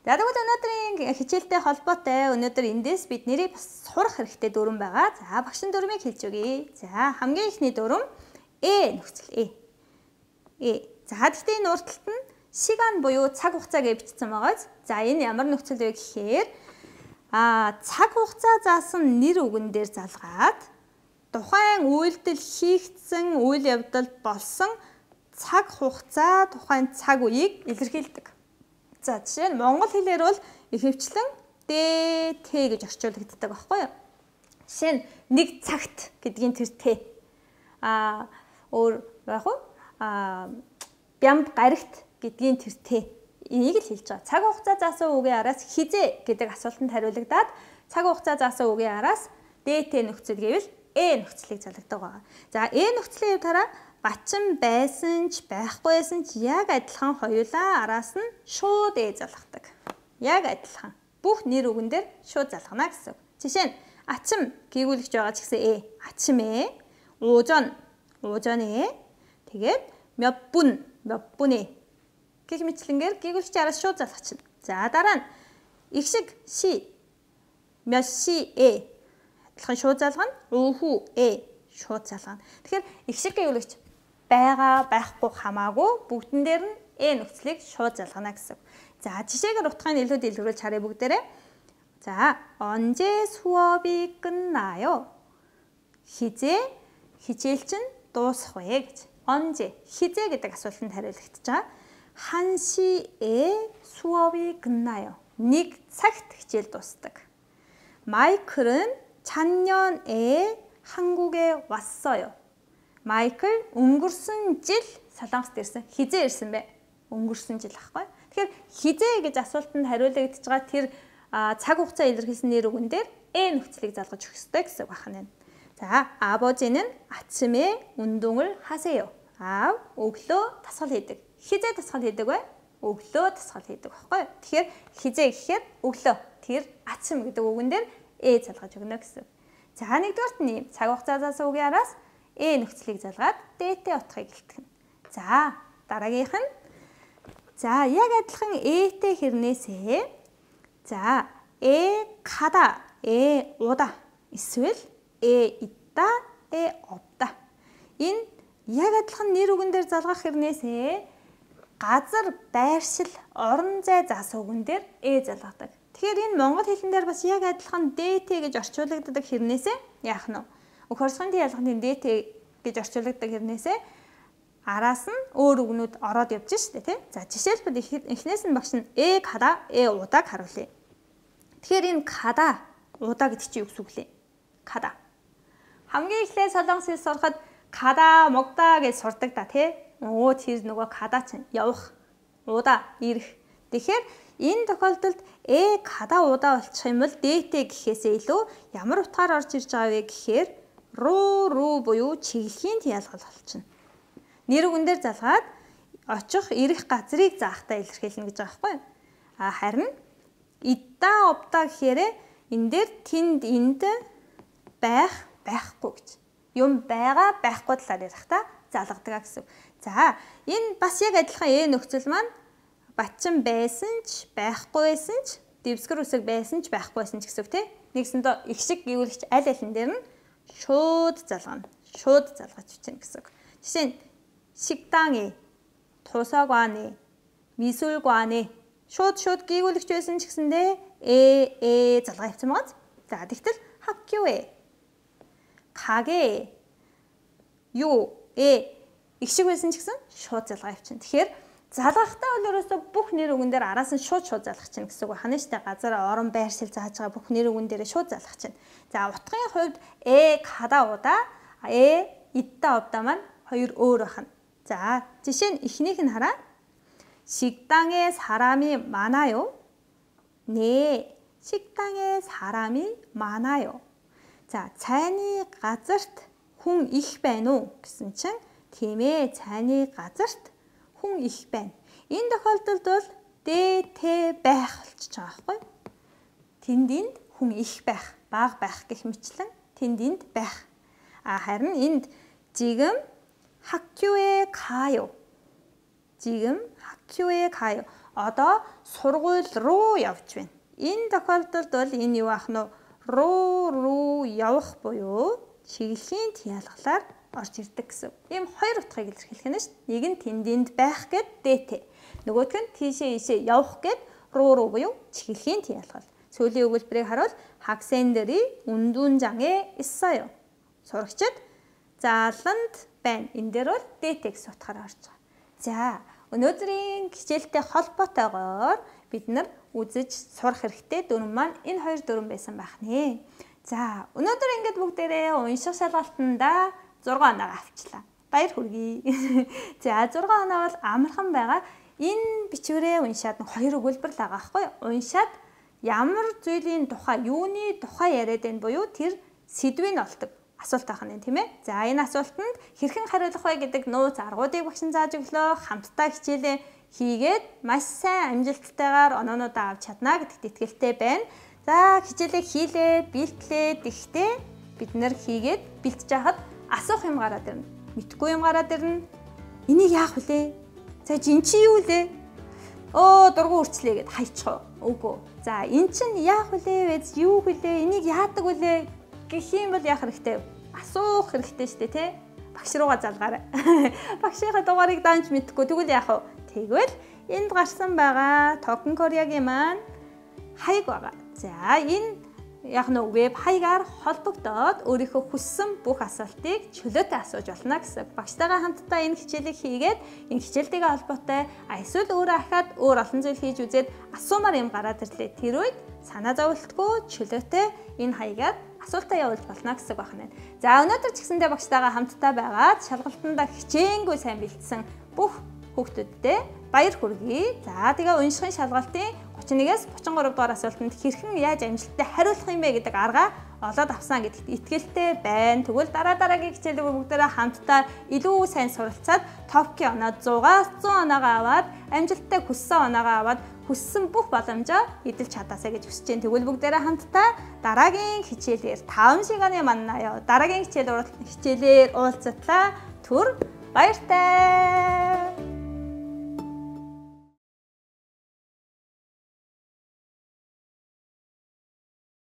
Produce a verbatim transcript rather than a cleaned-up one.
За тэгвэл өнөөдрийн хичээлтэй холбоотой өнөөдөр эндээс бид нэрийг бас сурах хэрэгтэй дүрм байгаа. За багшин дүрмийг хэлж өгье. За хамгийн ихний дүрм Э нөхцөл Э. Э. За гэхдээ энэ урталт нь 시간 буюу цаг хугацаа гэж бичсэн байгааз. За энэ ямар нөхцөл вэ гэхээр а цаг хугацаа заасан нэр үгэн дээр залгаад тухайн үйлдэл хийгдсэн үйл явдал болсон цаг хугацаа тухайн цаг үеийг илэрхийлдэг. За жишээ нь монгол хэлээр бол ихэвчлэн дэ тэ гэж орчуулагддаг байхгүй юу? Жишээ нь нэг цагт гэдгийн тэр тэ. А өөр яг уу а бямб гарагт гэдгийн тэр тэ. Энийг л хэлж байгаа. Цаг хугацаа заасан үгийн араас хизээ гэдэг асуултанд хариулагдаад цаг хугацаа заасан үгийн араас дэ тэ нөхцөл гэвэл Э нөхцөлийг залгадаг байгаа. За Э нөхцөлийн хувьд хараа бачин байсан ч байхгүйсэн ч яг адилхан хоёулаа араас нь шууд Э залгадаг. Яг адилхан. Бүх нэр үгэн дээр шууд залгана гэсэн. Жишээ нь ачим гээгүүлэгч байгаа ч гэсэн Э. ачим Э. 오전 오전 Э. тэгээд 몇 분 몇 분 Э. гэх мэтлэнгээр гээгүүлэгч араас шууд залгачна. За дараа нь ихшиг 시 몇 시 Э. адилхан шууд залгана. 오후 Э. шууд залгана. Тэгэхээр ихшиг гээгүүлэгч байгаа байхгүй хамаагүй бүгдэн дээр нь Э нөхцөлийг шууд залгана гэсэн. За жишээгээр утгын илүү дэлгэрүүлж харъя бүгдээрээ. 자 언제 수업이 끝나요? хизээ хичээл чинь дуусах вэ гэж. 언제 хизээ гэдэг асуултанд хариулагдаж байгаа. 한 시에 수업이 끝나요. нэг цагт хичээл дуусдаг. 마이클은 작년에 한국에 왔어요. 마이클 өнгөрсөн жил Солонгост ирсэн. хизээ ирсэн бэ? өнгөрсөн жил ахгүй. Тэгэхээр хизээ гэж асуултанд хариулагдаж байгаа тэр цаг хугацаа илэрхийлсэн нэр үгэн дээр Э нөхцөлийг залгаж өгөх ёстой гэсэн үг байна. За, 아버지는 아침에 운동을 하세요. 아ав өглөө дасгал хийдэг. хизээ дасгал хийдэг вэ? өглөө дасгал хийдэг байхгүй. Тэгэхээр хизээ гэхээр өглөө. Тэр 아침 гэдэг үгэн дээр Э залгаж өгнө гэсэн. За нэгдүгээрт нь цаг хугацаа заасан үгийн араас Э нөхцөлийг залгаад дэ-тэй утгыг илтгэнэ. За дараагийнх нь за яг адилхан Этэй хэрнээсээ за Э 가다, Э 오다 эсвэл Э 있다, Э 없다. Энэ яг адилхан нэр үгэн дээр залгах хэрнээсээ газар, байршил, орон зай заасан үгэн дээр Э залгадаг. Тэгэхээр энэ монгол хэлэн дээр бас яг адилхан дэ-тэ гэж орчуулагддаг хэрнээсээ яах нь вэ? Өх орсгоны ялганы дэ-тэ гэж орчуулагддаг хэрнээсээ араас нь өөр үгнүүд ороод явж штэ тий. За жишээлбэл эхнээс нь багш нь Э 가다, Э удааг харуулъя. Тэгэхээр энэ 가다, удаа гэдэг чинь юу гэсэн үг лээ? 가다. хамгийн эхлээд солонгос хэл сурахад 가다, 먹다 гэж сурдаг да тий. Өө тэр нөгөө 가다 чинь явах, удаа ирэх. Тэгэхээр энэ тохиолдолд Э 가다 удаа болчих юм бол дэ-тэ гэхээсээ илүү ямар утгаар орж ирж байгаа вэ гэхээр руу руу буюу чиглэлийн ялгал болчихно. Нэр үгэн дээр залгаад очих ирэх газрыг заахтаа илэрхийлнэ гэж байгаа байхгүй юу? А харин 있다 없다 гэхээр энэ дээр тэнд энд байх байхгүй гэж. Юм байгаа байхгүй талаар ярихтаа залгадаг гэсэн. За энэ бас яг адилхан Э нөхцөл маань бачин байсан ч байхгүйсэн ч дэвсгэр үсэг байсан ч байхгүйсэн ч гэсэн үг тийм. Нэгсэндээ их шиг гэвэл аль алин дээр нь шууд залгана. шууд залгаж бичнэ гэсэн үг. Жишээ нь 식당에, 도서관에, 미술관에 шууд шууд гээгүүлэгч байсан ч гэсэндээ э э залгаа явсан байгаа. За тэгтэл 학교에, 가게에, 요에 их шиг байсан ч гэсэн шууд залгаа явчихна. Тэгэхээр залгахтаа бол ерөөсөө бүх нэр үгэн дээр араас нь шууд шууд залгах чинь гэсэн үг байна шүү дээ. Газар орон байршил зааж байгаа бүх нэр үгэн дээр шууд залгах чинь. За утгын хувьд э 가다 오다, э 있다 없다 маань хоёр өөр байна. 자, жишээ нь эхнийх нь хараа. 식당에 사람이 많아요. 네, 식당에 사람이 많아요. 자, цайны газарт хүн их байна уу гэсэн чинь тийм ээ, цайны газарт хүн их байна. Энэ тохиолдолд бол дэ-тэ байх болчихж байгаа байхгүй юу? Тэнд энд хүн их байх, бага байх гэх мэтлэн тэнд энд байх. А харин энд 지금 학교에 가요. 지금 학교에 가요. одоо сургууль руу явж байна. Энэ тохиолдолд бол энэ юу ах нь руу руу явах буюу чиглэлийн тиалгалаар орж ирдэг гэсэн. Ийм хоёр утгыг илэрхийлэх нь шүү дээ. Нэг нь тэнд байх гэд дээтэй. Нөгөөх нь тийшээ ийшээ явах гэд руу руу буюу чиглэлийн тиалгал. Сүүлийн өгүүлбэрийг харуул 학생들이 운동장에 있어요. сурагчид зааланд байна. Энэ дээр бол дээтэй гэсэн утгаар орж байгаа. За, өнөөдрийн хичээлтэй холбоотойгоор бид нар үзэж сурах хэрэгтэй дүрм маань энэ хоёр дүрм байсан байх нэ. За, өнөөдөр ингээд бүгдээрээ унших шалгалтанда зургаан оноо авчлаа. Баяр хүргэе. За, зургаан оноо бол амархан байгаа. Энэ бичвэрээ уншаад хоёр өгүүлбэр л байгаа байхгүй юу? Уншаад ямар зүйлийн тухай, юуны тухай яриад байна буюу тэр сэдвийг олдог асуулт байх нь тийм ээ. За, энэ асуултанд хэрхэн хариулах вэ гэдэг нууц аргуудыг багш нь зааж өглөө. Хамтдаа хичээлээ хийгээд маш сайн амжилттайгаар оноонуудаа авч чадна гэдэгт итгэлтэй байна. За, хичээлээ хийлээ, бэлтлээ, тэгтээ бид нэр хийгээд бэлтэж хахад асуух юм гараад ирнэ. Мэдхгүй юм гараад ирнэ. Энийг яах вүлээ? За, жин чи юу лээ? Оо, дургу үрчлээ гэд хайчих уу? Үгүй. За, эн чинь яах вүлээ? Вэз юу вүлээ? Энийг яадаг вүлээ? Гэх юм бол яах хэрэгтэй? Асуух хэрэгтэй шүү дээ, тий? Багш руугаа залгаарай. Багшийнхаа дугаарыг даанч мэдэхгүй тэгвэл яах вэ? Тэгвэл энд гарсан байгаа Токен Кореагийн маань хаяг байгаа. За, энэ яг нь веб хаягаар холбогдоод өөрийнхөө хүссэн бүх асуултыг чөлөөтэй асууж болно гэсэн. Багштайгаа хамтдаа энэ хичээлийг хийгээд энэ хичээлтэйгээ холбоотой эсвэл өөрөө ахаад өөр олон зүйл хийж үзээд асуумаар юм гараад ирлээ. Тэр үед санаа зовлтгүй чөлөөтэй энэ хаягаар асуултаа явуулж болно гэсэн байх нь. За, өнөөдөр ч гэсэндээ багштайгаа хамтдаа байгаад шалгалтанда хичээнгүй сайн бэлдсэн бүх хүүхдүүдтэй баяр хүргэе. За, тэгээ уншихын шалгалтын гучин нэгээс гучин гурав дугаар асуултанд хэрхэн яаж амжилттай хариулах юм бэ гэдэг арга олоод авсан гэдэгт итгэлтэй байна. Тэгвэл дараа дараагийн хичээлүүд бүгдээрээ хамтдаа илүү сайн суралцаад топкийн оноо зугаас зуун оноогоо аваад амжилттай хүссэн оноогоо аваад хүссэн бүх боломжоо эдэлж чадаасаа гэж хүсэж байна. Тэгвэл бүгдээрээ хамтдаа дараагийн хичээлээр таван шиганы маннаа дараагийн хичээл хичээлээр уулзтлаа. Түр баяртай.